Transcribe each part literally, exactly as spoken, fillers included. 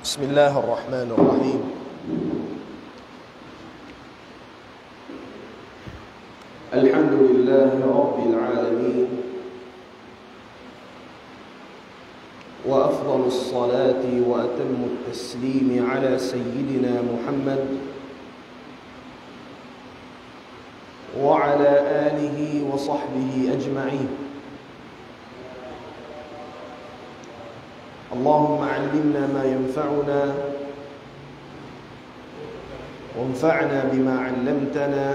بسم الله الرحمن الرحيم. الحمد لله رب العالمين، وأفضل الصلاة وأتم التسليم على سيدنا محمد وعلى آله وصحبه أجمعين. اللهم علمنا ما ينفعنا، وانفعنا بما علمتنا،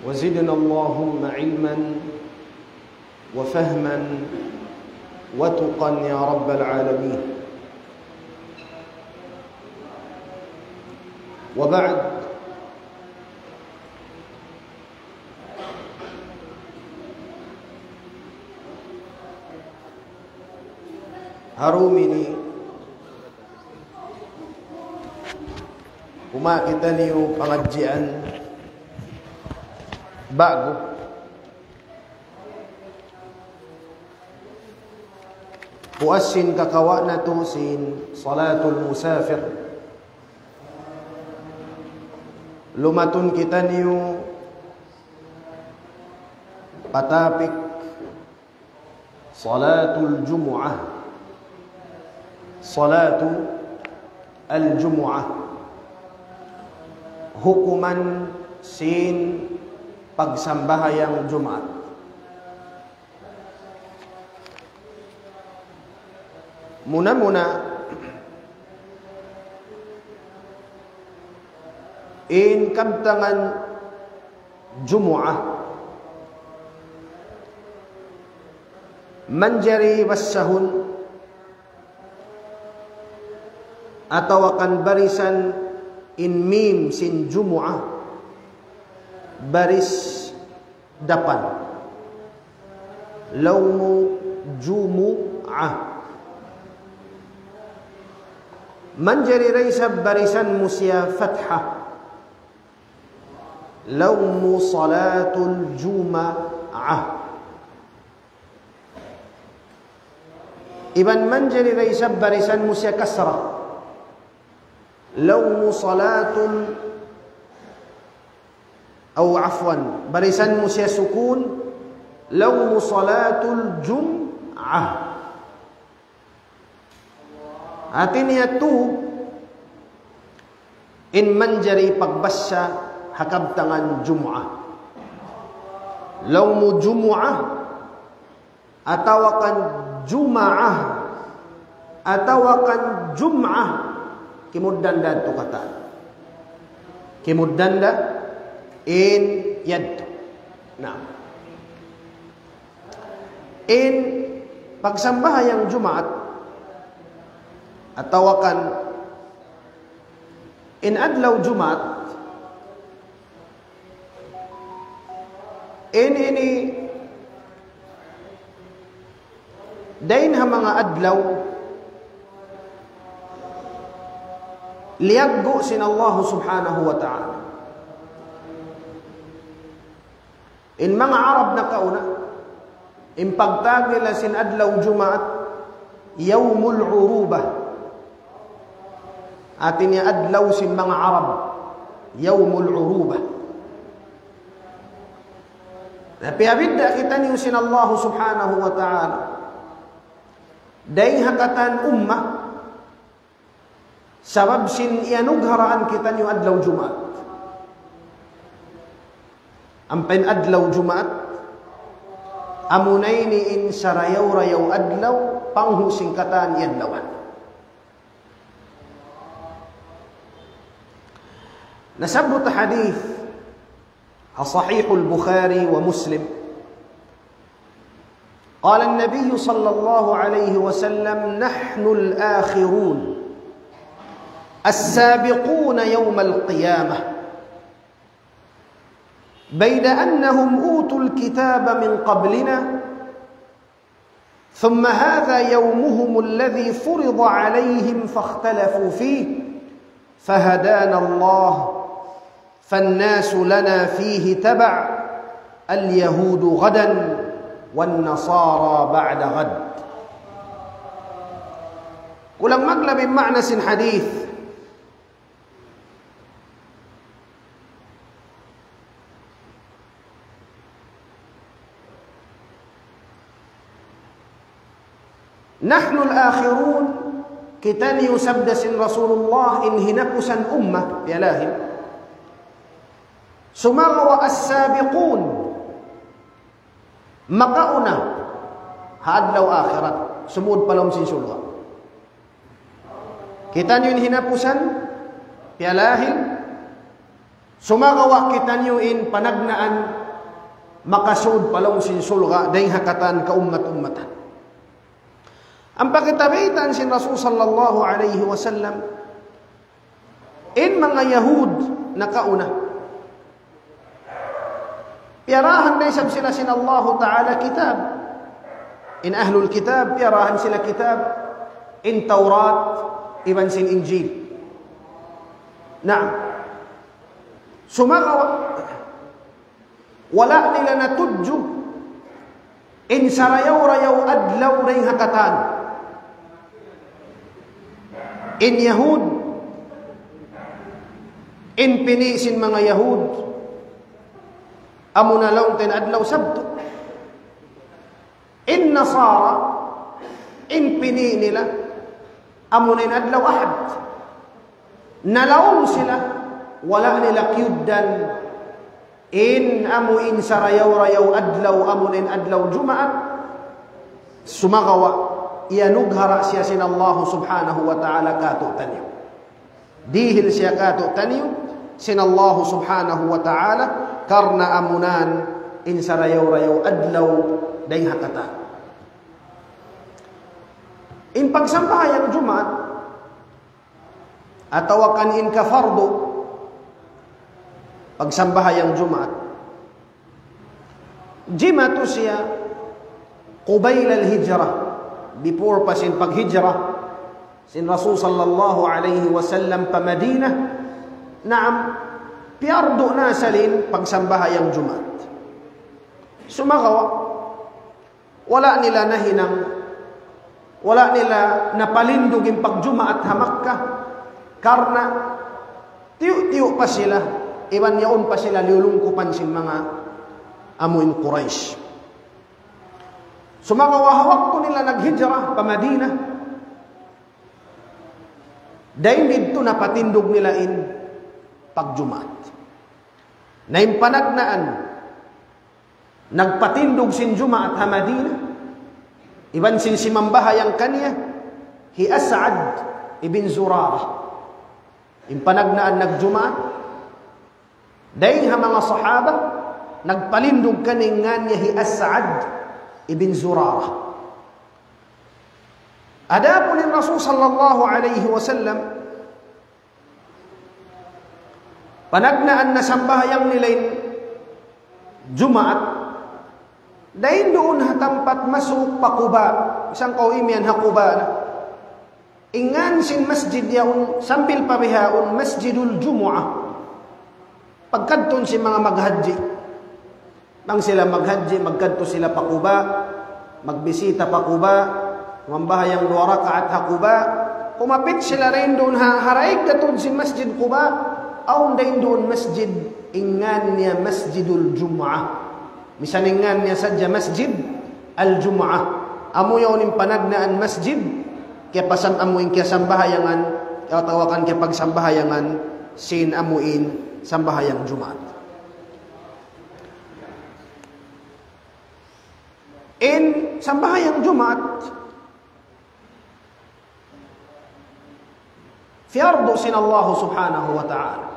وزدنا اللهم علما وفهما وتقى يا رب العالمين. وبعد، ha dum ini, kumawa' kitaniyu pangadjian ba'gu. Puas sin kakawa' natu' sin salatul musafir. Lumatun kitaniyu pa topic salatul jumu'ah. Salatul jumu'ah. Hukuman sin pagsambahayang Jumaat. Muna-muna, in kabtangan Jumu'ah, manjari basahun atawa kan barisan in mim sin Jumu'ah, baris dapan. Laung mu Jumu'ah. Manjari da isab barisan mu siya fathah. Laung mu salatul Juma'ah. Iban manjari da isab barisan mu siya kasrah. Laung mu salatul, aw afwan, barisan mu siya sukun, laung mu salatul jum'ah. Hati niya tu in manjari pagbasa ha kabtangan Jumu'ah. Laung mu Jumu'ah, atawa kan Juma'ah, atawa kan Jum'ah, kimugdan da tu katan. Kimugdan da in yadtu. Na. In pagsambahayang Jumaat, atawa kan in adlaw Jumaat, in ini dayn ha manga adlaw liyaggu' sin Allah Subhanahu wa Ta'ala. In manga Arab nakauna, in pagtawag nila sin adlaw Jumaat, Yawmul Urubah. Hati niya adlaw sin manga Arab, Yawmul Urubah. Na piyabidda' kitaniyu sin Allah Subhanahu wa Ta'ala dayn ha katan umma, sabab sin iyanugharaan kitaniyu adlaw Jumaat. Ampa in adlaw Jumaat, amuna ini in sarayaw-rayaw adlaw, panghu' sin katan adlawan. Nasabbut hadith ha Sahihul Bukhari wa Muslim. قال النبي صلى الله عليه وسلم: نحن الآخرون السابقون يوم القيامة، بيد أنهم أوتوا الكتاب من قبلنا، ثم هذا يومهم الذي فرض عليهم فاختلفوا فيه، فهدانا الله، فالناس لنا فيه تبع، اليهود غدا والنصارى بعد غد. Kulang maglabi in ma'na sin hadith. نحن الآخرون, kitaniyu sabda sin Rasulullah in hinapusan umma, piyalahil. Sumagawa' السابقون, makauna ha adlaw akhirat, sumud pa lawm sin surga'. Kitaniyu in hinapusan, piyalahil, sumagawa' kitaniyu in panagnaan makasud pa lawm sin surga' dayng ha katan kaummat-ummatan. Ampa kita baytaan sin Rasul sallallahu alayhi wasallam, in manga Yahud nakauna, piyarahan da isab sila sin Allahu Ta'ala kitab. In ahlul kitab, piyarahan sila kitab. In Tawrat, iban sin Injil. Naam. Sumagawa', wala' nila natudju in sarayaw-rayaw adlaw dayng ha katan. In Yahud, in pini' sin manga Yahud, amuna laung ta in adlaw Sabtu. In Nasara, in pini' nila, amuna in adlaw Ahad. Nalaung sila, wala' nila kiyugdan in amu in sarayaw-rayaw adlaw, amuna in adlaw Jumaat. Sumagawa', iyanughara siya sin Allahu Subhanahu wa Ta'ala kātu'niyu. Dihil siya kātu'niyu sin Allahu Subhanahu wa Ta'ala, karna' amunan in sarayaw-rayaw adlaw dayng ha katan. In pagsambahayang Jumaat, atawa kan in kafardu pagsambahayang Jumaat, jimatu siya قبيل الهجرة, before pa sin paghijra sin Rasul sallallahu alayhi wasallam pa Madinah. Naam, piyardu na sa in pagsambahayang Jumaat. Sumagawa', wala' nila nahinang, wala' nila napalindug in pagjumaat ha Makkah, karna' tiyu'-tiyu' pa sila, iban yaun pa sila liyulungkupan sin manga amu in Quraysh. Sumagawa' ha waktu nila naghijra pa Madinah, dayn didtu napatindug nila in pagjumaat. Na in panagnaan nagpatindug sin Jumaat ha Madinah, iban sin simambahayang kaniya, hi As'ad ibn Zurarah. In panagnaan nagjumaat, dayng ha manga sahaba, nagpalindug kaniya in ngan niya hi As'ad ibn Zurarah. Adapun in Rasul sallallahu alayhi wasallam, panagnaan nasambahayang nila in Jumaat, dayn duun ha tampat masuuk pa Quba, isab kaw imiyan ha Quba na. In ngan sin masjid yaun, sambil pa bihaun, Masjidul Jumu'ah. Pagkadtun sin manga maghajji. Bang sila maghajji, magkadtu sila pa Quba, magbisita pa Quba, mambahayang duwa rakaat ha Quba, kumapit sila dayn duun ha, ha daig katud sin Masjid Quba, awn dayn duun masjid, in ngan niya Masjidul Jumu'ah. Misan in ngan niya sadja Masjid Al-Jumu'ah. Amu yaun in panagnaan masjid, kiyapasam-, amu in kiyasambahayangan, atawa kan kiyapagsambahayangan, sin amu in sambahayang Jumaat. In sambahayang Jumaat, piyardu sin Allah Subhanahu wa Ta'ala.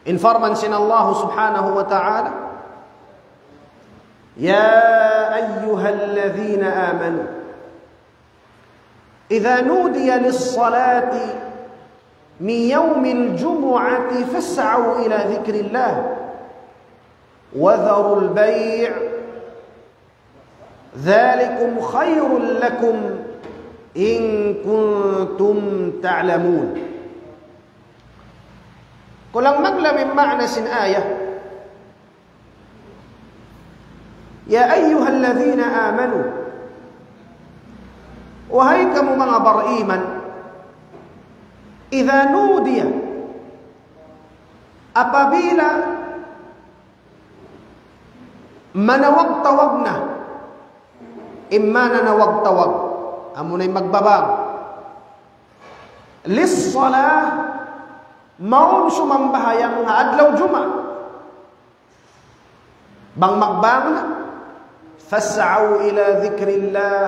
In parman sin Allah Subhanahu wa Ta'ala, يا أيها الذين آمنوا إذا نودي للصلاة من يوم الجمعة فاسعوا إلى ذكر الله وذروا البيع ذلكم خير لكم إن كنتم تعلمون. Kulang maglabi in ma'na sin ayat. يا أيها الذين آمنوا. Wahai kamu manga bariman, إذا نودي, apabila manawag-tawag na, in maana nanawag-tawag, amuna in magbabang, للصلاة, mawn sumambahayang ha adlaw Jumaat. Bang magbang na, فاسعوا إلى ذكر الله,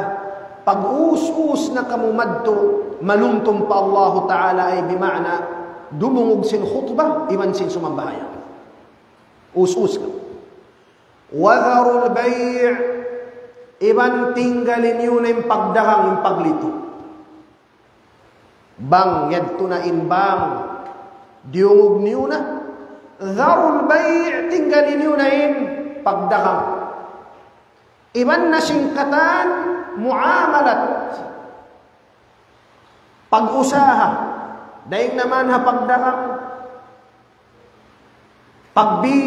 pag-us-us na kamu madtu, manumtum pa Allahu Ta'ala, ay bima'na, dumungug sin khutbah, iban sin sumambahayang. Us-us kamu. وذروا البيع, iban tinggali niyu na in pagdagang, in paglitu. Bang yadtu na in bang, diyungug niyu na. ذروا البيع, tinggali niyu na in pagdagang. Iban na sin katan muamalat, pag-usaha, dayn naman ha pagdagang, pagbi,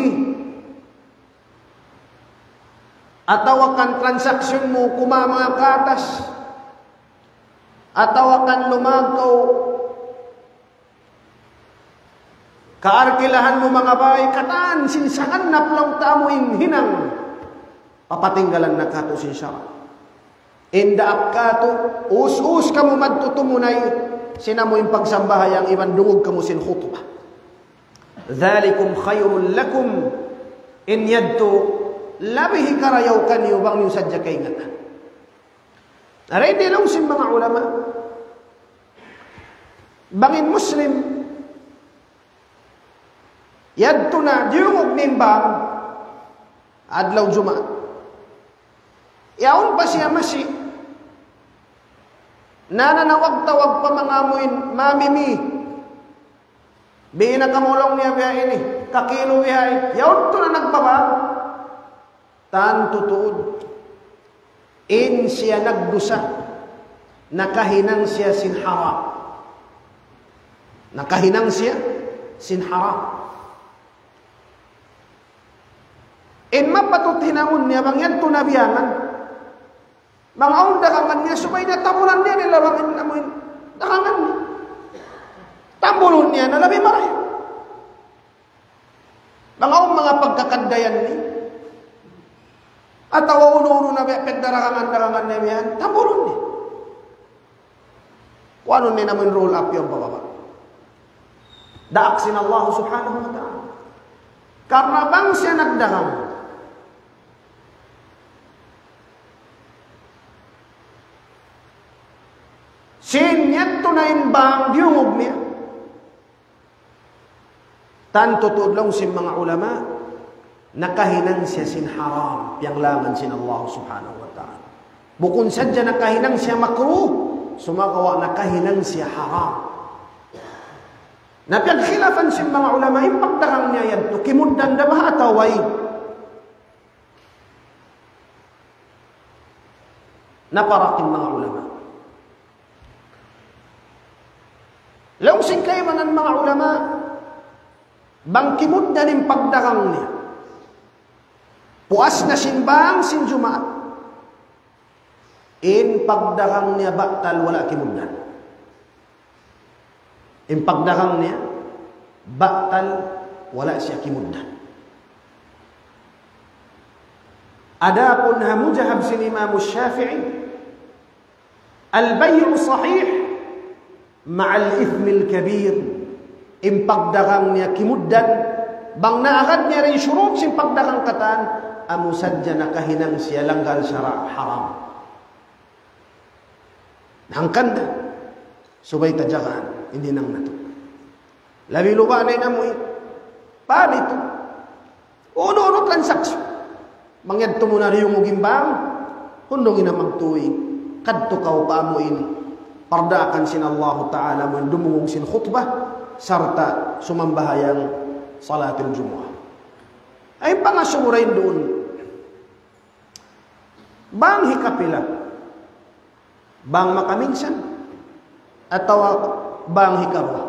atawa kan transaksyon mu kuma manga katas, atawa kan lumag kaw kaarkilahan mu manga bay, katan sin sangannap laung ta amu in hinang papatinggalan na katu' sin sara'. In daak katu', us-us kamu madtu tumunay sin amu in pagsambahayang iban dungug kamu sin khutbah. ذلكم خير لكم, in yadtu labi hikarayaw kaniyu bang niyu sadja kaingatan. Aray di laung sin manga ulama, bang in Muslim yadtu na diyungug nimbang adlaw Jumaat, yaun pa siya masi nananawag-tawag pa manga amuin mamimi. Biya' na kamu laung niya biya' ini, kakilu biya' ini. Yaun tu na nagbabang. Tantu tuud. In siya nagdusa, nakahinang siya sin haram. Nakahinang siya sin haram. In mapatut hinangun niya bang yadtu na biyangan. Bang awn dagangan niya, subay niya tambulan niya, nila bang in amuin dagangan niya. Tambulun niya na labi marayaw. Bang awn manga pagkakaddayan niya, atawa unu-unu na biya' pagdaragangan-dagangan niya biyan, tambulun niya. Kuanun niya namu' in roll up yan pababa'. Daak sin Allah subhanahu wa ta'ala. Karna' bang siya nagdagang, sin yadtu na in bang diyungug niya. Tantu tuud laung sin manga ulama, nakahinang siya sin haram, piyanglangan sin Allah subhanahu wa ta'ala. Bukun sadja nakahinang siya makruh, sumagawa' nakahinang siya haram. Na piyagkhilafan sin manga ulama, in pagdagang niya yadtu, kimugdan da ba atawa way? Naparak in manga ulama. Laung sin kaibanan manga ulama, bang kimugdan in pagdagang niya puas na sin bang sin Jumaat, in pagdagang niya batal, wala' kimugdan. In pagdagang niya batal, wala' siya kimugdan. Adapun ha madhhab sin Imam Shafi'i, البيع صحيح مع الإثم الكبير. In pagdagang niya kimugdan, bang naagad niya in shurut sin pagdagang katan, amu sadja nakahinang siya langgal sara' haram. Hangkan da, subay ta jagaan in hinang natu'. Labi luba' na in amuin palitu. Unu-unu transaksyon. Bang yadtu mu na diyungug in bang, hundung in magtuy. Kadtu kaw pa amuin pardaakan sin Allahu Ta'ala, amuin dumungug sin khutbah, sarta' sumambahayang salatul Jumu'ah. Ay pangasubu dayn duun. Bang hikapila? Bang makaminsan? Atawa bang hikaruwa?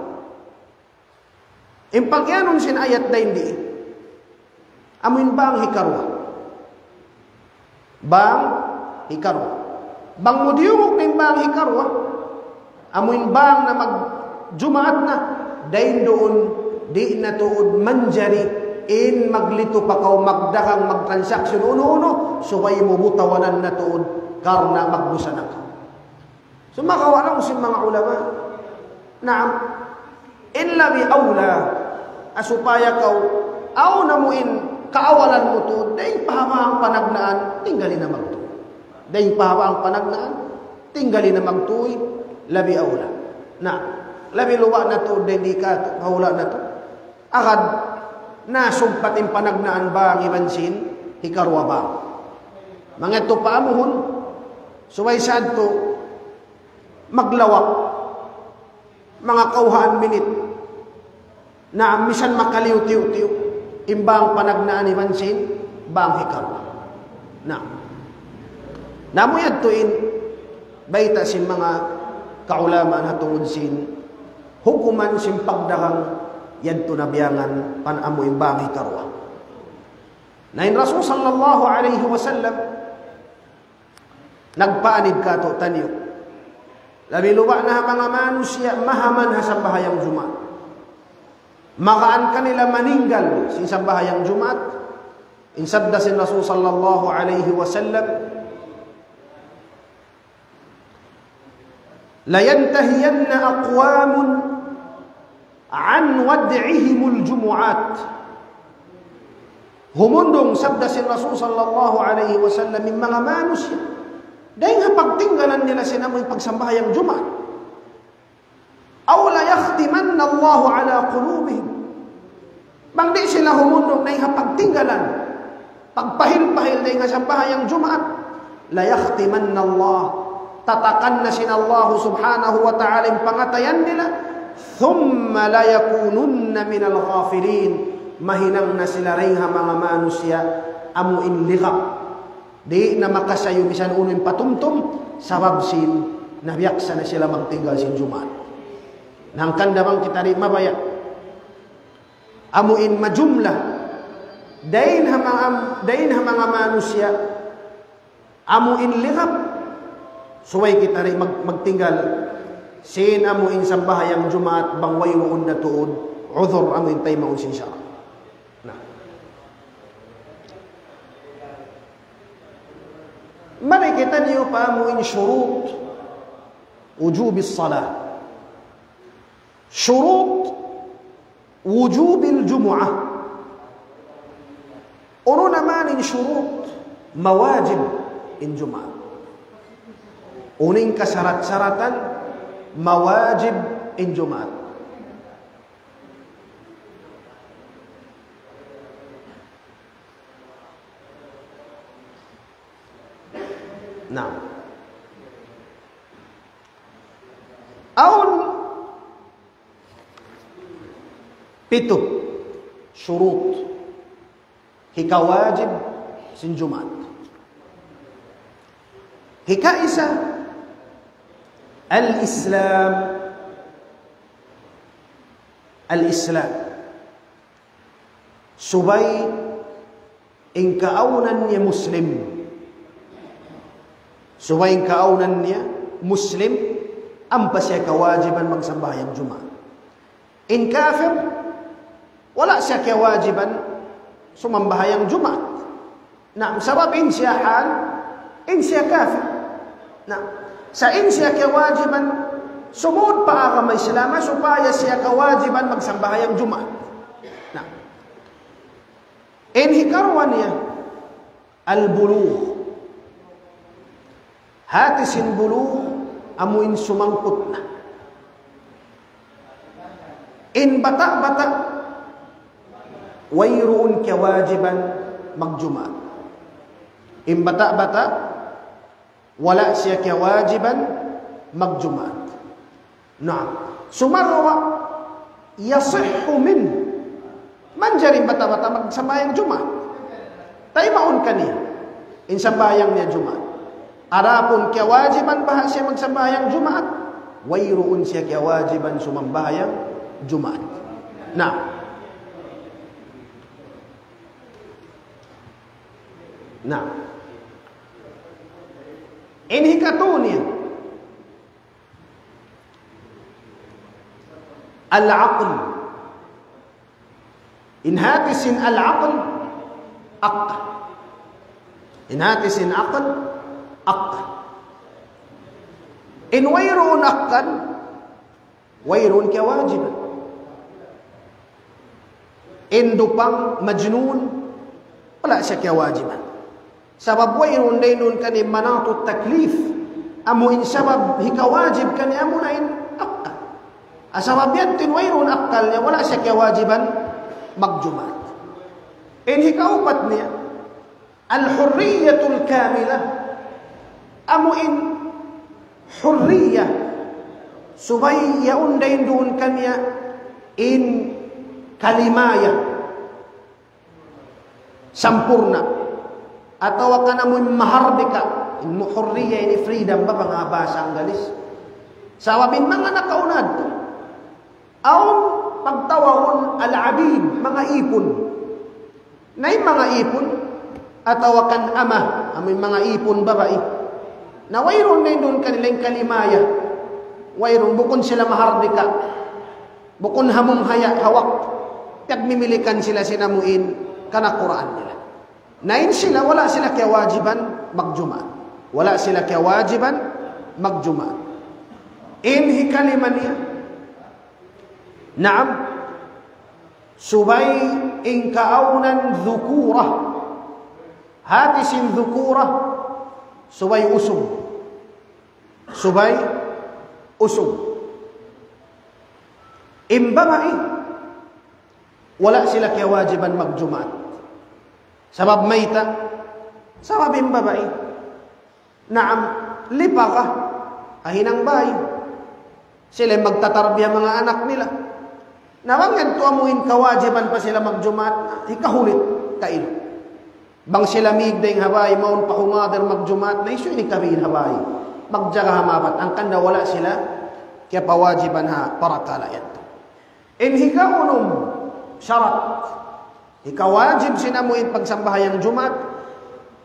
In pagiyanun sin ayat dayn di, amuin bang hikaruwa. Bang hikaruwa. Bang mu diyungug na in bang hikaruwa, amu in bang na mag-Jumaat na, dayn duun, di' na tuud manjari in maglitu pa kaw, magdagang, magtransaksyon, unu-unu, subay mu butawanan na tuud, karna' magdusa na kaw. Sumagawa' laung sin manga ulama. Naam. In labi awla, supaya kaw, awn amu in kaawalan mu tuud, dayn pa ha bang panagnaan, tinggali na magtuy. Dayn pa ha bang panagnaan, tinggali na magtuy, labi awla. Na, labi luba' na tuud, dayn di ka, kaula na tuud. Agad, na sumpat in panagnaan bang iban sin, hikaruwa bang. Mangitu pa amuhun, subay sadtu, maglawak, manga kawhaan minit, na misan makaliyu tiyu'-tiyu', in bang panagnaan iban sin, bang hikaruwa. Na, na amu yadtu in, bayta' sin manga kaulamaan ha tungud sin, hukuman sin pagdagang, yadtu na biyangan, pan amu in bang hikaruwa. Na in Rasul sallallahu alayhi wasallam, nagpaanib kātu'niyu. Labi luba' na ha manga manusiya' mahaman ha sambahayang Jumaat. Magaan kanila maninggal sin sambahayang Jumaat. In sabda sin Rasul sallallahu alayhi wasallam, لينتهين أقوام عن ودعهم الجمعات. Humundung, sabda sin Rasul sallallahu alayhi wasallam, in manga manusiya', dayn ha pagtinggalan nila sin amu in pagsambahayang Jumaat. أو ليختمن الله على قلوبهم. Bang di' sila humundung dayn ha pagtinggalan, pagpahil-pahil dayn ha sambahayang Jumaat, ليختمن الله, tatakan na sin Allah subhanahu wa ta'ala in pangatayan nila, ثم ليكونن من الغافلين, mahinang na sila dayn ha manga manusiya' amu in ligap. Di' na makasayu misan unu in patumtum, sabab sin nabiyaksa na sila magtinggal sin Jumaat. Na hangkan da bang kita di' mabaya'. Amu in majumlah. Dayn ha manga, dayn ha manga manusiya'. Amu in ligap. Subay kita di' mag-, magtinggal. Sin amu in sambahayang Jumaat bang wayruun na tuud. Udhur amu in taymaun sin sara'. Na. Mari kitaniyu pa amu in shurut wujubis salah. Shurut wujubil Jumu'ah. Unu na man in shurut mawajib in Jumaat. Unu in kasarat-saratan mawajib in Jumaat. Na. Awn pitu shurut hikawajib sin Jumaat. Hikaisa, al-Islam. Al-Islam. Subay in kaawnan niya Muslim. Subay in kaawnan niya Muslim, ampa siya kawajiban magsambahayang Jumaat. In kafir, wala' siya kawajiban sumambahayang Jumaat. Na, sabab in siya hal, in siya kafir. Na, sa' in siya kawajiban sumud pa agama Islam, supaya siya kawajiban magsambahayang Jumaat. Na, in hikaruwa niya, al-bulugh. Hati sin bulugh, amu in sumangput na. In bata'-bata', wayruun kawajiban magjumaat. In bata'-bata', wala' siya kawajiban magjumaat. Naam. Sumagawa', yasihhu min. Manjari in bata'-bata' magsambahayang Jumaat. Taymaun kaniya in sambahayang niya Jumaat. Adapun kiyawajiban baha' siya magsambahayang Jumaat, wayruun siya kiyawajiban sumambahayang Jumaat. Na. Na. In hikatu niya, al-aql. In hati sin al-aql, akal. In hati sin akal, akal. In wayruun akal, wayruun kiyawajiban. In dupang majnun, wala' siya kiyawajiban. Sabab wayruun dayn duun kaniya manatut taklif. Amu in sabab hikawajib kaniya amu na in akal. Ah, sabab yan tin wayruun akal niya, wala' siya kiyawajiban magjumaat. In hikaupat niya, al-hurriyatul kamilah. Amu in hurriya. Subay yaun dayn duun kaniya in kalimaya. Sampurna'. Atawa kan amu in mahardika. In mu-, hurriya ini freedom ba pa bahasa Anggalis? Sabab in manga nakauna yadtu, awn pagtawagun al-abid, manga ipun. Na in manga ipun, atawa kan ama, amu in manga ipun babai. Na wayruun na in duun kanila in kalimaya. Wayruun, bukun sila mahardika. Bukun hamung haya hawak. Piyagmimilikan sila sin amu in kanakuraan nila. Na in sila, wala' sila kiyawajiban magjumaat. Wala' sila kiyawajiban magjumaat. In hikalima niya, naam, subay in kaawnan dhukura. Hati sin dhukura, subay usug. Subay usug. In babai, wala' sila kiyawajiban magjumaat. Sabab mayta'? Sabab in babai, naam, lipaka, ahinang bay. Sila in magtatarbiya manga anak nila. Na bang yadtu amu in kawajiban pa sila magjumaat, hikahulit kailu. Bang sila mīg dayn ha bay, mawn pa humadir magjumaat, na hisiyu in ikabin ha bay magjaga ha mabat, hangkan da wala' sila kiyapawajiban ha parakala' yadtu. In hikaunum sarat, hikawajib sin amu in pagsambahayang Jumaat,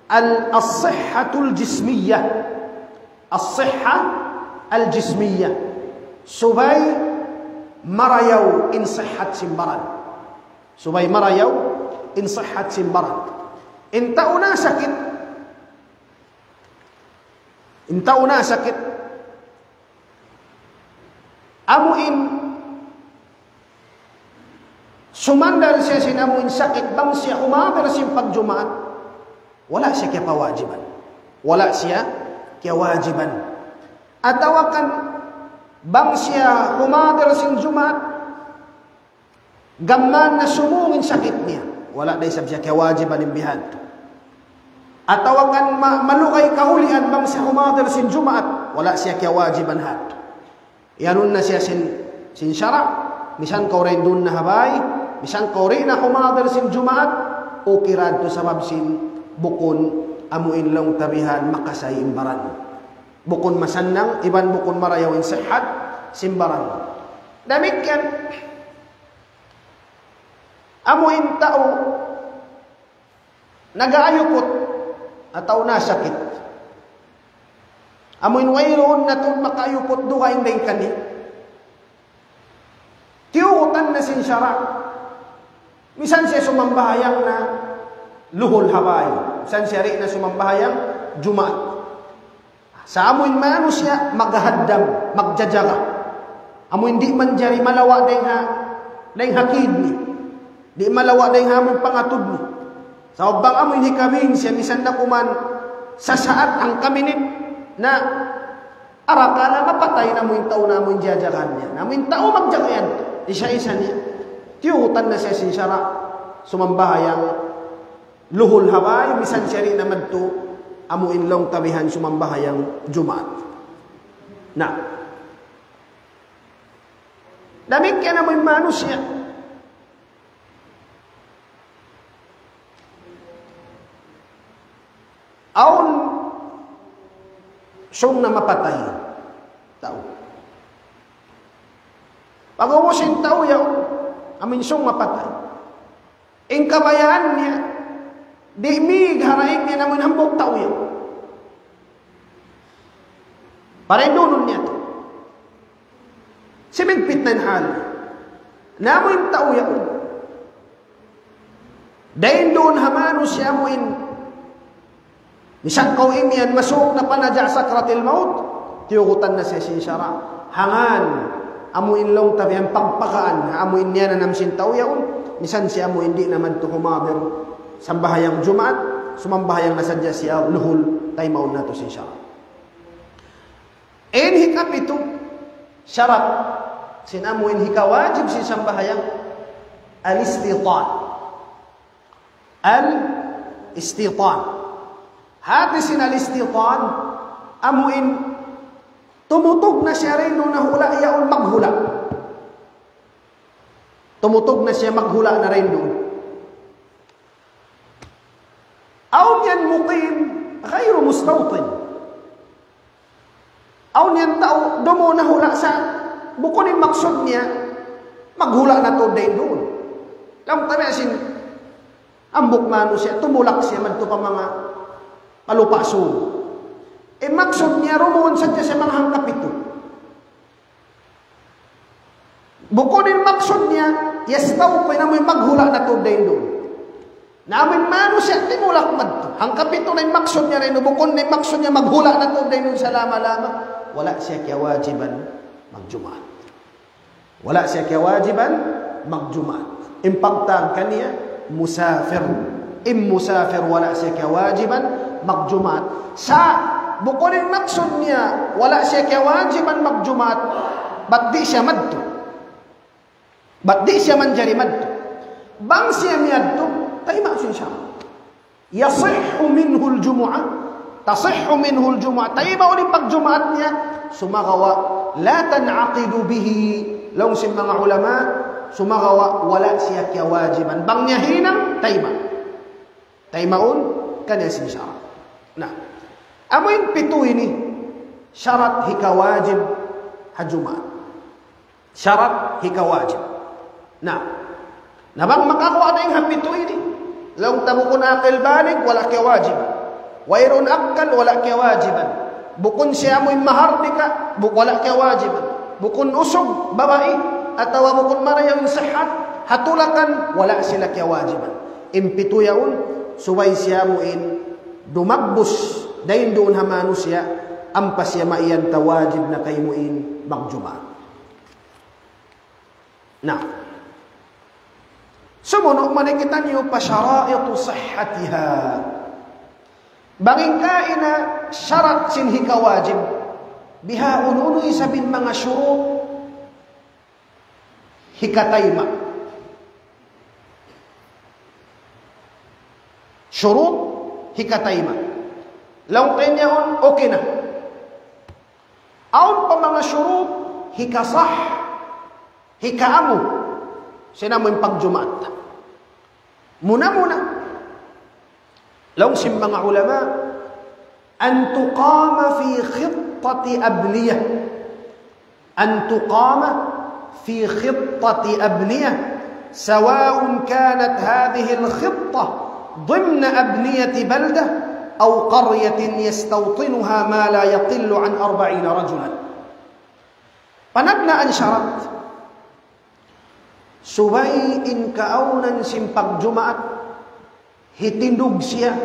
al-, as-sihhatul jismiyyah. As-sihha al-jismiyyah. Subay marayaw in sihhat sin baran. Subay marayaw in sihhat sin baran. In tau nasakit, in tau nasakit, amu in sumandal siya sin amu in sakit, bang siya humadir sin pagjumaat, wala' siya kiyapawajiban. Wala' siya kiyawajiban. Atawa kan bang siya humadir sin Jumaat, gam mayan na sumūng in sakit niya, wala' da isab siya kiyawajiban in bihadtu. Atawa kan ma-, malugay kahulian bang siya humadir sin Jumaat, wala' siya kiyawajiban hadtu. Iyanun na siya sin, sin sara', misan kaw dayn duun na ha bay, misan kaw di' na humadir sin Jumaat, okay ra yadtu sabab sin bukun amu in laung ta bihan makasay in baran. Bukun masannang, iban bukun marayaw in sihhat sin baran. Damikkiyan, amu in tau nag-aayuput atawa nasakit. Amu in wayruun na tuud makaayuput dugaing dayn kaniya. Tiyugutan na sin sara'. Misan siya sumambahayang na luhul ha bay. Misan siya di' na sumambahayang Jumaat. Sa' amu in manusiya' maghaddam, magjajaga. Amu in di' manjari malawa' dayn ha, dayn ha kidney. Di' malawa' dayn ha amu in pangatud niya. Sabab bang amu in hikabin siya, misan na kuman sasaat hangka minit na arakala' mapatay na amu in tau na amu in jajagahan niya. Na amu in tau magjaga yan, isa-isa niya. Tiyugutan na siya sin sara', sumambahayang luhul ha bay, misan siya di' na madtu, amu in laung ta bihan sumambahayang Jumaat. Na. Damikkiyan amu in manusiya'. Awn sūng na mapatay. Tau. Pag'ubus in tau yaun, amu in sūng mapatay. In kabayaan niya, di' mīg ha daig niya na amu in hambuuk tau yaun. Para indunun niya tu. Simigpit na in hal. Na amu in tau yaun. Dayn duun ha manusiya' amu in. Misan kaw imiyan masuuk na pa naja' sakratil maut. Tiyugutan na siya sin sara'. Hangkan, amu in laung ta biya' pagpakaan, amu in niyananam sin tau yaun. Misan siya amu in di' na madtu humadir. Sambahayang Jumaat, sumambahayang na sadja siya luhul, taymaun natu' sin sara'. In hikapitu, sarat, sin amu in hikawajib sin sambahayang, al-istitan. Al-istitan. Hati sin al-istitan, amu in tumutug na siya dayn duun ha hula' yaun maghula'. Tumutug na siya maghula' na dayn duun. Awn yan muqim, ghayru mustawtin. Awn yan tau, dumatung na hula' sa, bukun in maksud niya, maghula' na tuud dayn duun. Laung ta biya' sin, hambuuk manusiya', tumulak siya madtu pa manga, pa Lupa' Sug. In maksud niya, dumatung sadja siya manga hangkapitu. Bukun in maksud niya, yastawtin, amu in maghula' na tuud dayn duun. Na amu in manusiya' timulak madtu. Hangkapitu na in maksud niya dayn duun, bukun na in maksud niya maghula' na tuud dayn duun salama-lama. Wala' siya kiyawajiban magjumaat. Wala' siya kiyawajiban magjumaat. In pagtawag kaniya, musafir. In musafir wala' siya kiyawajiban magjumaat. Sa' bukun in maksud niya, wala' siya kiyawajiban magjumaat, bat di' siya madtu. Bat di' siya manjari madtu. Bang siya miyadtu, tayma' sin sara'. يصح منه الجمعة، تصح منه الجمعة. Taymaun in pagjumaat niya, sumagawa', لا تنعقد به. Laung sin manga ulama, sumagawa', wala' siya kiyawajiban. Bang niya hinang, tayma'. Taymaun, kaniya sin sara'. Na, amu in pitu ini, sarat hikawajib ha Jumaat. Sarat hikawajib. Na, na bang makaguwa' na in ha pitu ini, laung ta bukun aqil balig, wala' kiyawajiban. Wayruun akkal, wala' kiyawajiban. Bukun siya amu in mahardika, bu-, wala' kiyawajiban. Bukun usug, babai, atawa bukun marayaw in sihat, ha tulakan, wala' sila kiyawajiban. In pitu yaun, subay siya amu in dumagbus, dayn duun ha manusiya', ampa siya maiyan ta wajib na kaymu in magjumaat. Na. Sumunu' man kitaniyu pa شرائط صحتها. Bang in kaina sarat sin hikawajib, biha unu-unu isab in manga shurut hikatayma'. Shurut hikatayma'. Laung ta in yaun, okay na. Awn pa manga shurut, hikasah, hikaamu, sin amu in pagjumaat. Muna-muna, laung sin manga ulama, أن تقام في خطة أبنية. أن تقام في خطة أبنية، سواء كانت هذه الخطة ضمن أبنية بلدة أو قرية يستوطنها ما لا يقل عن أربعين رجلا. Panagnaan sarat, subay in kaawnan sin pagjumaat, hitindug siya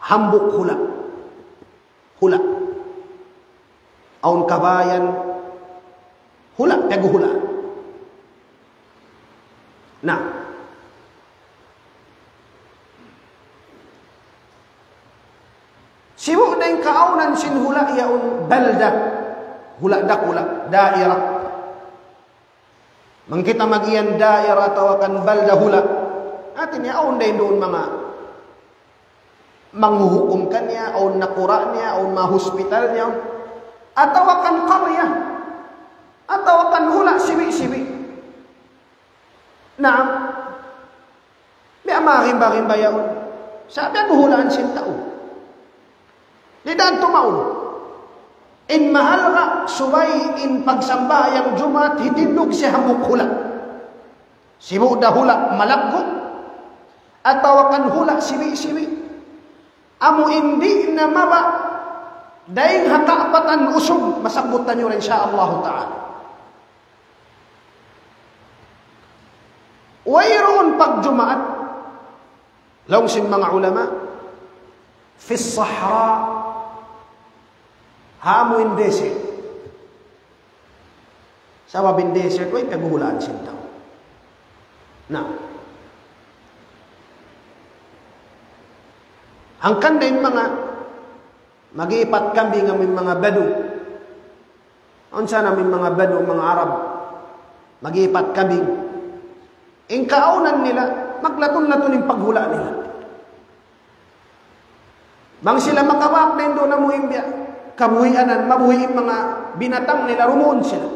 hambuuk hula'. Hula'. Awn kabayan, hula', piyaghuhulaan. Na, sibu' da in kaawnan sin hula' yaun balda, hula' dakula', daira. Bang kita mag-iyan daira atawa kan balda hula', hati niya awn da in duun manga manghuhukum kaniya, awn nakura' niya, awn manga hospital niya, atawa kan qarya, atawa kan hula' sibi'-sibi'. Naam. Biya' manga rimba-rimba yaun. Sa' biya' buhulaan sin tau. Di' da tumaun. In mahalga' subay in pagsambahayang Jumaat hitindug siya hambuuk hula'. Sibu' da hula' malaggu'. Atawa kan hula' sibi'-sibi'. Amu in di' na mabaya' dayn ha kaapatan usug, masabbut taniyu ra, insya Allah ta'ala. Wayruun pagjumaat, laung sin manga ulama, في الصحراء, ha amu in desert. Sabab in desert, way paghuhulaan sin tau. Na, hangkan da in manga mag-iipat kambing amu in manga Badu. Awn sa amu in manga Badu, manga Arab, mag-iipat kambing. In kaawnan nila, maglatun-latun in paghula' nila. Bang sila makabak na in duun amu in biya' kabuhianan, mabuhi' in manga binatang nila, dumuun sila.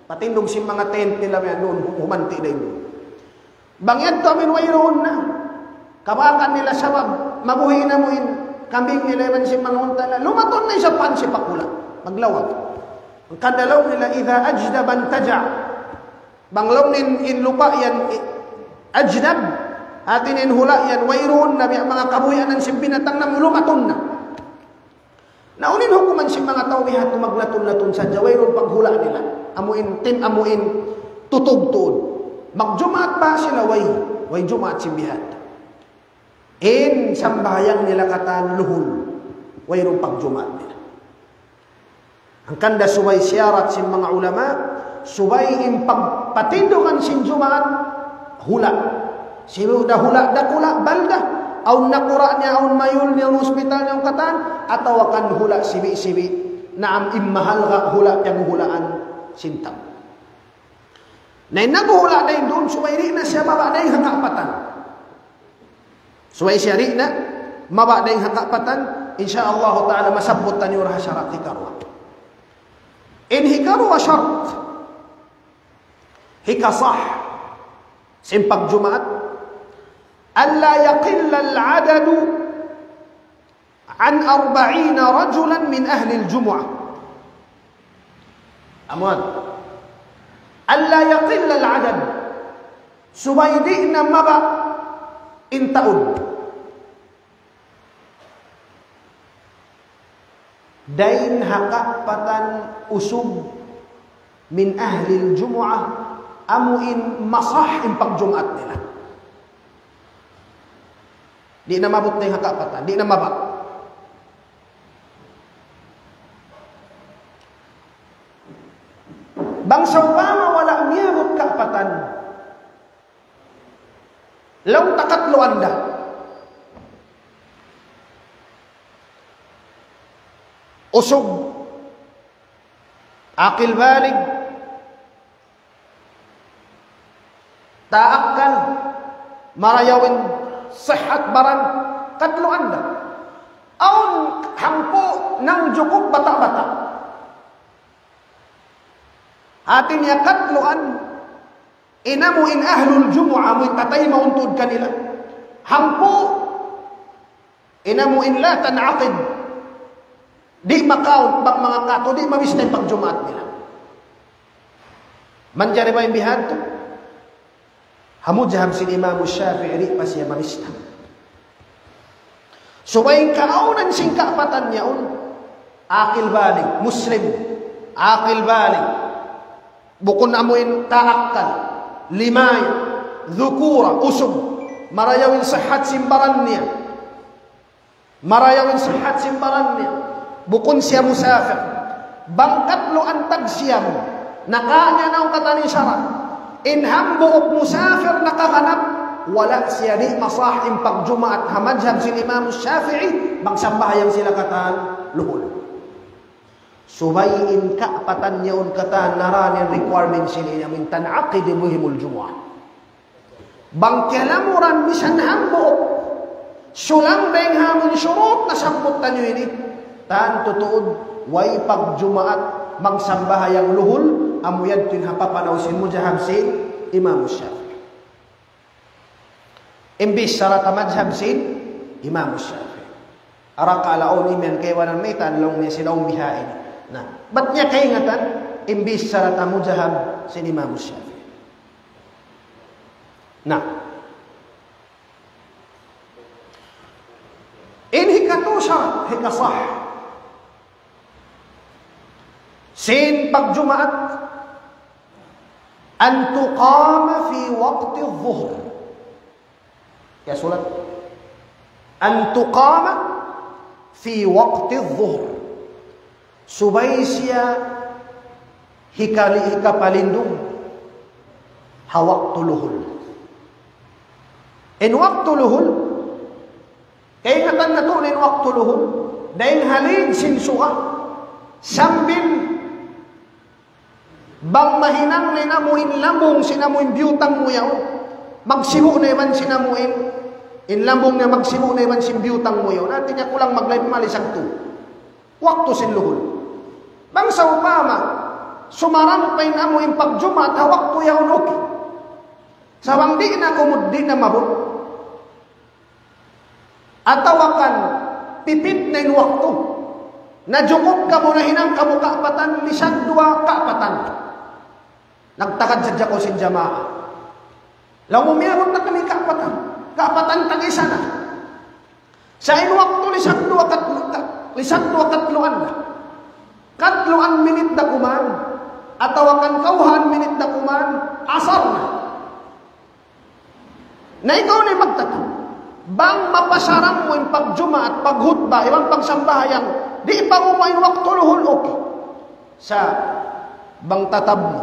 Patindug sin manga tent nila, biya' duun, humanti' da in duun. Bang yadtu amu in wayruun na kabakan nila, sabab mabuhi' na amu in kambing nila iban sin manga unta nila, lumatun na isab pa hansipak hula', maglawag. Hangkan da laung nila, إذا أجدب انتجع. Bang laung niya in lupa' yan, i-, ajdab, hati niya in hula' yan wayruun na, biya' manga kabuhianan sin binatang na, lumatun na. Na unu in hukuman sin manga tau bihadtu, maglatun-latun sadja, wayruun paghula' nila? Amu in tim-, amu in tutug tuud. Magjumaat ba sila? Way, way jumaat sin bihadtu. In sambahayang nila katan luhul, wayruun pagjumaat nila. Hangkan da subay siyarat sin manga ulama, subay in pag-, patindugan sin jumaat, hula'. Sibu' da hula' dakula', balda, awn nakura' niya, awn mayul niya, awn hospital niya, awn katan, atawa kan hula' sibi'-sibi'. Naam, in mahalga' hula' piyaghuhulaan sin tau. Na in naghuhula' dayn duun, subay di' na siya mabaya' dayn ha kaapatan. Subay siya di' na mabaya' dayn ha kaapatan, insya Allah ta'ala, masabbut taniyu ra ha sharat hikaruwa. In hikaruwa sharat, hikasah sin pagjumaat, ألا يقل العدد عن أربعين رجلا من أهل الجمعة. Amu yan. ألا يقل العدد. Subay di' na mabaya' in taud dayn ha kaapatan usug من أهل الجمعة, amu in masah in pagjumaat nila. Di' na maabut dayn ha kaapatan, di' na mabaya'. Bang sawpama wala' miyabut kaapatan, laung ta katluan da. Usug, aqil balig, taakkal, marayaw in sihat baran, katluan da. Awn hangpu' nangjukup bata'-bata'. Hati niya katluan, in amu in ahlul jumu'ah, amu in tataymaun tuud kanila. Hangpu', in amu in la tan'aqid. Di' ma-count bang manga katu', di' mabista in pagjumaat nila. Manjari ba in bihadtu? Ha madhhab sin Imam Shafi'i, di' pa siya mabista. Subay in kaawnan sin kaapatan yaun, aqil balig, muslim, aqil balig. Bukun amu in taakkal, limay, dhukura, usug, marayaw in sihat sin baran niya. Marayaw in sihat sin baran niya. Bukun siya musafir. Bang katluan tagsiyam, nakawa' niya na in katan sara'. In hambuuk musafir nakaganap, wala' siya, di' masah in pagjumaat ha madhhab sin Imam Shafi'i, bang sambahayang sila katan luhul. Subay in kaapatan yaun katan, na ra in requirement sin ini, amu in tan'aqidu bihimul jumu'ah. Bang kiyalamuran misan hambuuk sulang dayn ha amun shurut nasabbut taniyu ini, tantu tuud way pagjumaat magsambahayang luhul, amu yadtu in ha papanaw sin madhhab sin Imam Shafi'i. Imbis sara' ta madhhab sin Imam Shafi'i. Arakala' awn imiyan kaibanan mayta' laung niya sila umbihain. Na, bat niya kaingatan, imbis sara' ta madhhab sin Imam Shafi'i. Na, in hikat sharat hikasah sin pagjumaat, أن تقام في وقت الظهر. Ya, sulat. أن تقام في وقت الظهر. Subay siya hikali-, hikapalindung ha waktu luhul. In waktu luhul, kaingatan natu' in waktu luhul, dayn ha lid sin suga, sambil bang mahinang na in amu in lambung sin amu in biyutang mu yaun, magsibu' na iban sin amu in, in lambung niya magsibu' na iban sin biyutang mu yaun. Hati niya kulang maglayp mali sagtu waktu sin luhul. Bang sawpama, sumarang pa in amu in pagjumaat ha waktu yaun, okay. Sa' bang di' na kumud, di' na maabut. Atawa kan pipit na in waktu. Najukup kamu, nahinang kamu kaapatan, lisag duwa kaapatan. Nagtagad sadja kaw sin jamaa. Laung mu miyabut na kami kaapatan. Kaapatan tag-isa na. Sa' in waktu lisag duwa kat-, ka-, lisag duwa katluan na. Katluan minit na kuman. Atawa kan kawhaan minit na kuman. Asar na. Na ikaw na in magtataud. Bang mapasaran mu in pagjumaat, paghutba, iban pagsambahayang, di' pa guwa' in waktu luhul, okay. Sa' bang tatab mu,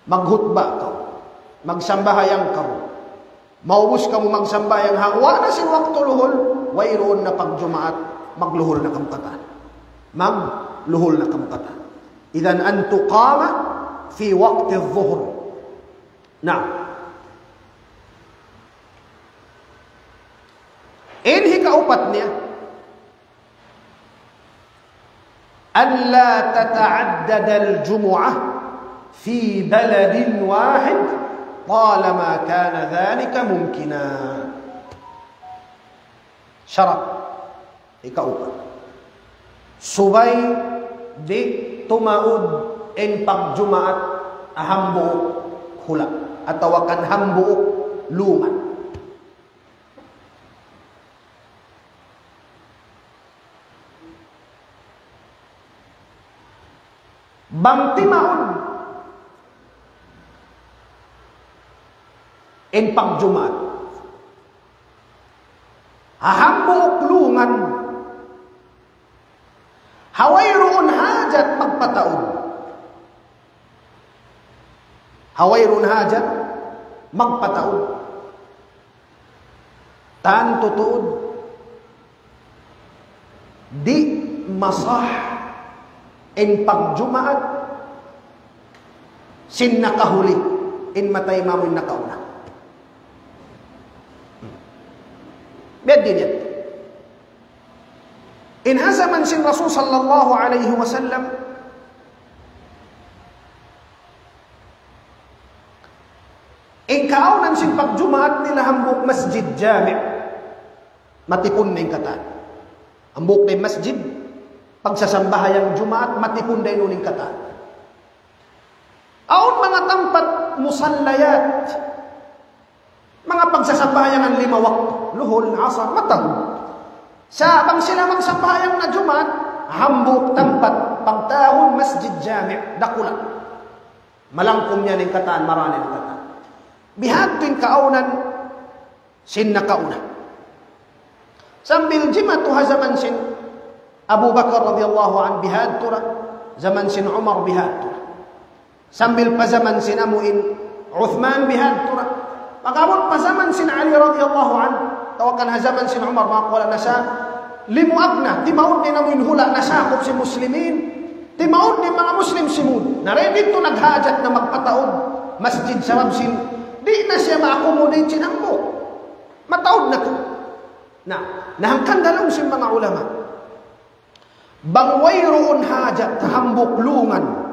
maghutba kaw, magsambahayang kaw, maubus kamu magsambahayang, ha guwa' na sin waktu luhul, wayruun na pagjumaat, magluhul na kamu katan. Magluhul na kamu katan. إذن أن تقام في وقت الظهر. Na. In hikaupat niya, ألا تتعدد الجمعة في بلد واحد طالما كان ذلك ممكنا. Sharat. Hikaupat. Subay di' tumaud in pagjumaat ha hambuuk hula', atawa kan hambuuk lungan. Bang timaud in pagjumaat ha hambuuk lungan, ha wayruun hajat magpataud. Ha wayruun hajat magpataud. Tantu tuud, di' masah in pagjumaat sin nakahuli, in matay mamu in nakauna. Biya' diin yan. In ha jaman sin Rasul sallallahu alayhi wasallam, in kaawnan sin pagjumaat nila hambuuk masjid jami', matipun na in katan. Hambuuk na in masjid, pagsasambahayang Jumaat, matipun na in katan. Awn manga tampat musallayat, manga pagsasambahayangan lima waktu, luhul, asar, mataud. Sa' bang sila magsambahayang na Jumaat, hambuuk tampat, pagtawagun masjid jami', dakula'. Malangkum yan in katan, marā na in katan. Bihadtu in kaawnan sin nakauna. Sambil jimatu ha jaman sin Abu Bakar radiyallahu anhu bihadtu ra, jaman sin Umar bihadtu ra. Sambil pa jaman sin amu in Uthman bihadtu ra. Pag-abut pa jaman sin Ali radiyallahu anhu, atawa kan ha jaman sin Umar, manga kawala nasa, limuag na, timaud na in amu in hula' nasakup sin Muslimin, timaud na in manga Muslim simud. Na dayn didtu naghajat na magpataud masjid sabab sin, di' na siya ma-accommodate sin hambuuk. Mataud na tuud. Na, na hangkan da laung sin manga ulama, bang wayruun hajat ha hambuuk lungan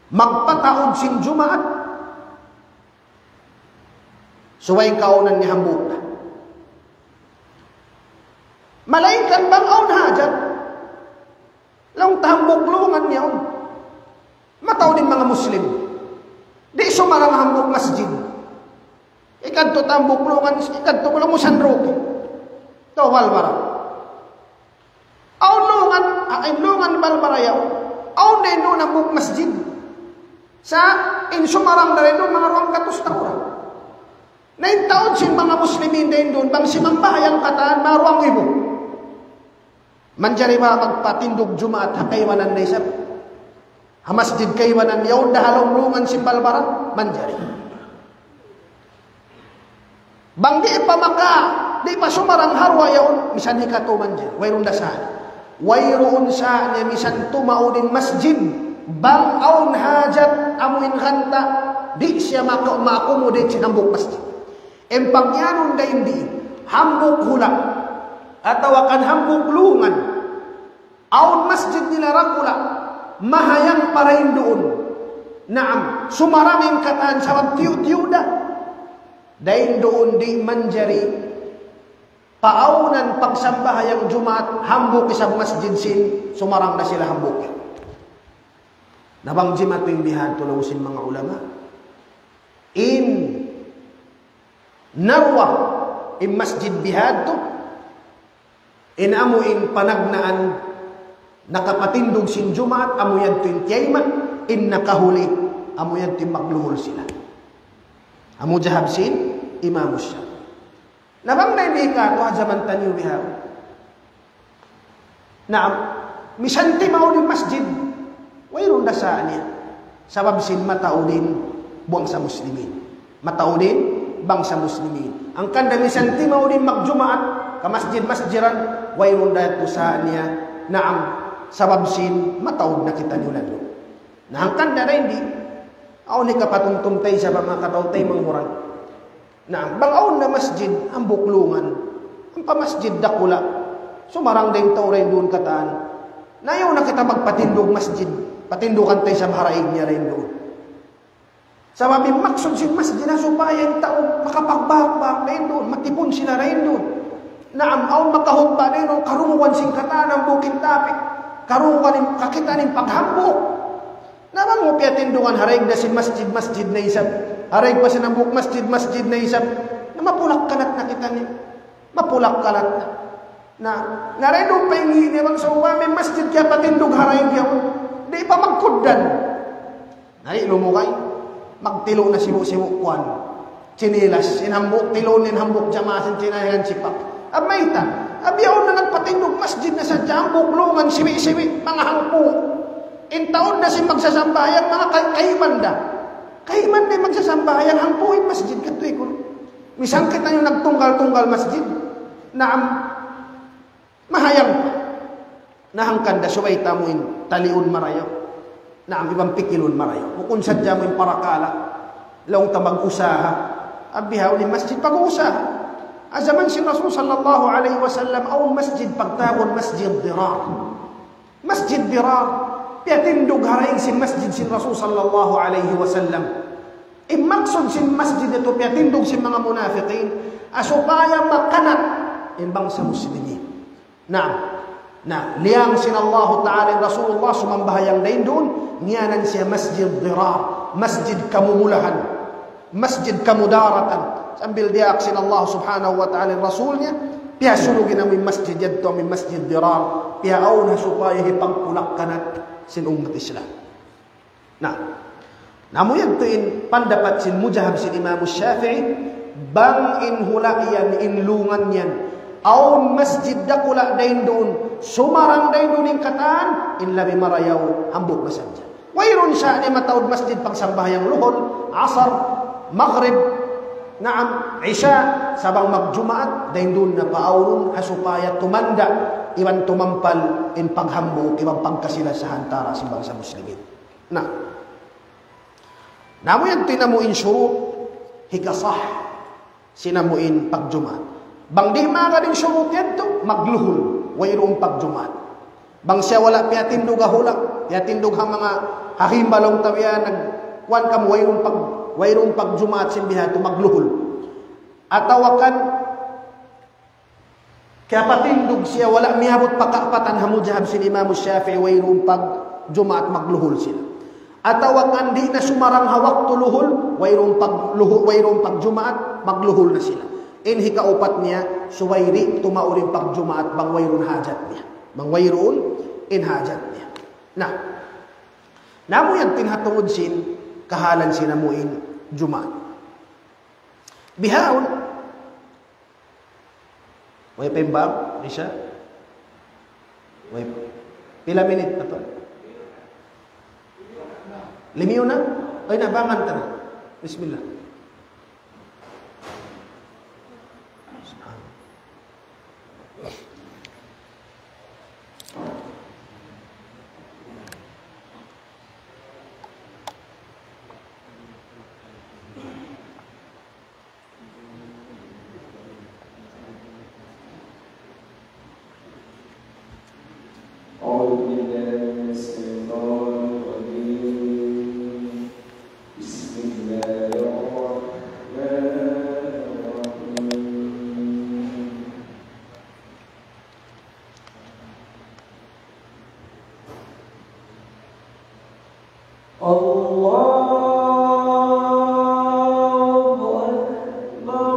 magpataud sin Jumaat, subay kaawnan niya hambuuk na. Malayngkan bang awn hajat, laung ta hambuuk lungan niya yaun. Mataud in manga Muslim. Di' sumarang hambuuk masjid. Ikadtu ta hambuuk lungan, ikadtu ku laung mu San Roque. Tawal bara. Sumarang da dayn duun manga duwanggatus tau ra. Na in taud sin manga Muslimin dayn duun, bang simambahayang katan, manga duwang ibu. Manjari ba magpatindug Jumaat ha kaibanan da isab? Ha masjid kaibanan yaun da ha lawm lungan sin balbala? Manjari. Bang di' pa maka, di' pa sumarang ha duwa yaun, misan hikatu manjari. Wayruun da sa. Wayruun sa niya misan tumaud in masjid. Bang awn hajat amu in ganta', di' siya maka-, ma-accommodate sin hambuuk masjid. In pagyanun dayn di, hambuuk hula', atawa kan hambuuk lungan. Awn masjid nila dakula', mahayang pa dayn duun. Naam, sumarang in katan sabab tiyu'-tiyu' da. Dayn duun di' manjari paawnan pagsambahayang Jumaat hambuuk isab masjid sin, sumarang da sila hambuuk. Na bang jimatu in bihadtu laung sin manga ulama, in naruwa in masjid bihadtu, in amu in panagnaan nakapatindug sin Jumaat, amu yadtu in tiyayma', in nakahuli, amu yadtu in magluhul sila. Amu madhab sin Imam Shafi'i. Na bang na ini katu' ha jaman taniyu bihaun. Naam, misan timaud in masjid, wayruun da sa niya. Sabab sin mataud in bangsa Muslimin. Mataud in bangsa Muslimin. Hangkan da misan timaud in magjumaat, ka masjid-masjidan, wayruun da tuud sa niya. Naam, sabab sin mataud na kitaniyu landu'. Na hangkan da dayn di, awn hikapatumtum ta isab ha manga kataw-taymanghuran. Na bang awn na masjid hambuuk lungan, ampa masjid dakula', sumarang da in tau dayn duun katan. Na ayaw na kita magpatindug masjid, patindugan ta isab ha daig niya dayn duun. Sabab in maksud sin masjid na supaya in tau makapagbahak-bahak dayn duun, matipun sila dayn duun. Naam, awn makahutba dayn duun, karungugan sin katan hambuuk in tapik, karungugan in kakitaan in paghambuuk. Na bang mu piyatindugan ha daig da sin masjid, masjid na isab. Ha daig pa sin hambuuk masjid, masjid na isab. Na mapulak-kanat na kitaniyu. Mapulak-kanat na. Na, na dayn duun pa in ini bang sawpama in masjid kiyapatindug ha daig yaun. Di' pa magkugdan. Na di' lumugay. Magtilu' na sibu'-sibu' kuwan. Chinilas, in hambuuk tilun, in hambuuk jamaa sin chinilas yan sipak. Ab mayta', ab yaun na nagpatindug masjid na sadja hambuuk lungan sibi'-sibi', manga hangpu'. In taud na sin magsasambahayang, manga kay-, kayman da. Kayman da in magsasambahayang, hangpu' in masjid, katuy kunu'. Misan kitaniyu nagtunggal-tunggal masjid. Naam. Mahayang pa. Na hangkan da subay ta amu in taliun marayaw. Naam, iban pikilun marayaw. Bukun sadja amu in parakala'. Laung ta mag-usaha. Bihaun in masjid pag-uusaha. Ha jaman sin Rasul sallallahu alayhi wasallam, awn masjid pagtawagun Masjid Dirar. Masjid Dirar, piyatindug ha daig sin masjid sin Rasul sallallahu alayhi wasallam. In maksud sin masjid yadtu piyatindug sin manga munafiqin, ha supaya makanat in bangsa Muslimin. Naam. Na, liyang sin Allahu Ta'ala in Rasulullah sumambahayang dayn duun, ngiyanan siya Masjid Dirar, masjid kamumulahan, masjid kamudaratan. Sambil diyaak sin Allah Subhanahu wa Ta'ala in Rasul niya, piyasulug in amu in masjid yadtu, amu in Masjid Dirar, piyaawn ha supaya hipagpulak-kanat sin ummat Islam. Na, na amu yadtu in pandapat sin madhab sin Imam Shafi'i, bang in hula' yan, in lungan yan, awn masjid dakula' dayn duun, sumarang dayn duun in katan, in labi marayaw, hambuuk na sadja. Wayruun sa niya mataud masjid pagsambahayang luhul, asar, maghrib, naam, isya, sa' bang magjumaat, dayn duun na paawnun, ha supaya tumanda', iban tumampal, in paghambuuk, iban pagkasila-sila ha antara' sin bangsa Muslimin. Na. Na amu yan in amu in shurut hikasah sin amu in pagjumaat. Bang di' magad in shurut yadtu, magluhul, wayruun pagjumaat. Bang siya wala' piyatindug ha hula', piyatindug ha manga hahimba laung ta biya' nag-, kuwan kamu, wayruun pag-, wayruun pagjumaat sin biya' yadtu, magluhul. Atawa kan kiyapatindug siya, wala' miyabut pa kaapatan ha madhab sin Imam Shafi'i, wayruun pagjumaat, magluhul sila. Atawa kan di' na sumarang ha waktu luhul, wayruun pagluhu-, wayruun pagjumaat, magluhul na sila. In hikaupat niya, subay di' tumaud in pagjumaat bang wayruun hajat niya. Bang wayruun in hajat niya. Na, na amu yan in ha tungud sin kahalan sin amu in Jumaat. Bihaun, way pa in bang, Isya? Way pa. Pila minit na pa? Limiyu na? Ay, nabangan ta na. Bismillah. أعوذ بالله من الشيطان الرجيم. بسم الله الرحمن الرحيم. الله أكبر، الله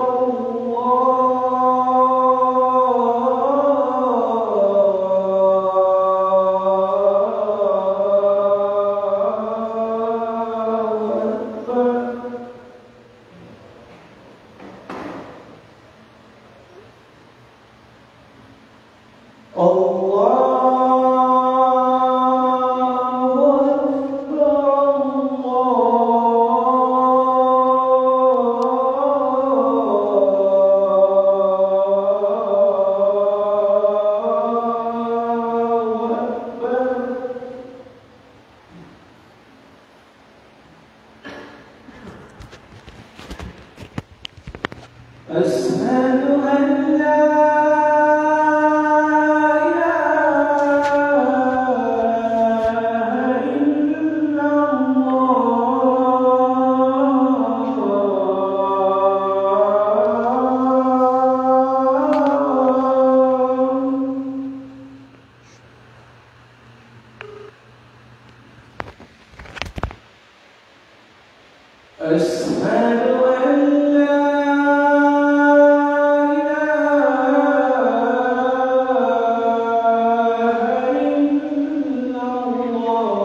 أكبر. الله أكبر، الله أكبر. أشهد أن لا إله إلا الله. أشهد أن لا إله إلا الله.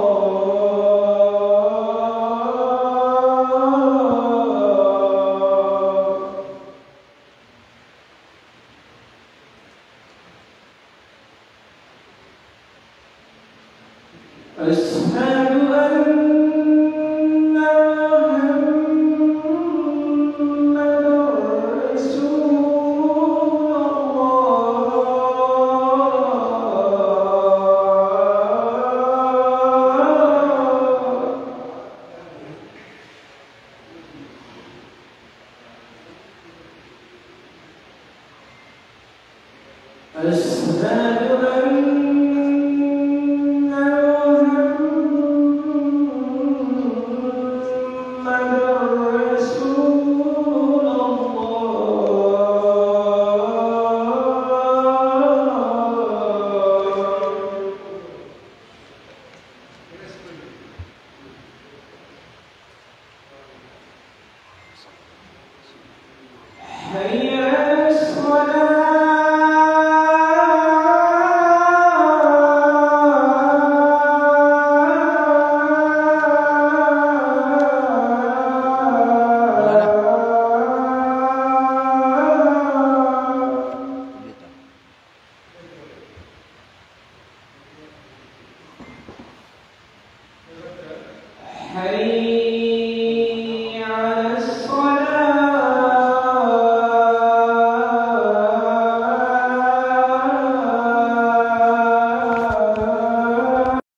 أشهد أن محمدا رسول الله. أشهد أن محمدا رسول الله. حي على الصلاة. حي